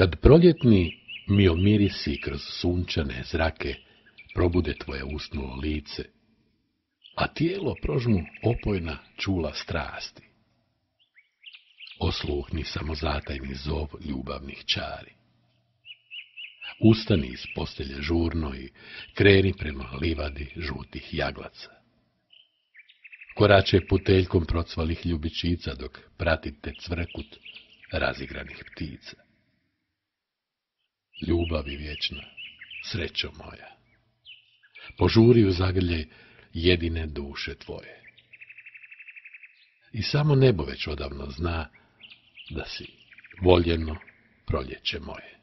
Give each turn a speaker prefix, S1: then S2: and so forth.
S1: Kad proljetni miomirisi kroz sunčane zrake probude tvoje usnulo lice, a tijelo prožmu opojna čula strasti, osluhni samozatajni zov ljubavnih čari. Ustani iz postelje žurno i kreni prema livadi žutih jaglaca. Korače puteljkom procvalih ljubičica dok pratite cvrkut razigranih ptica. Ljubavi vječna, srećo moja, požuri u zagrljaj jedine duše tvoje. I samo nebo već odavno zna da si voljeno proljeće moje.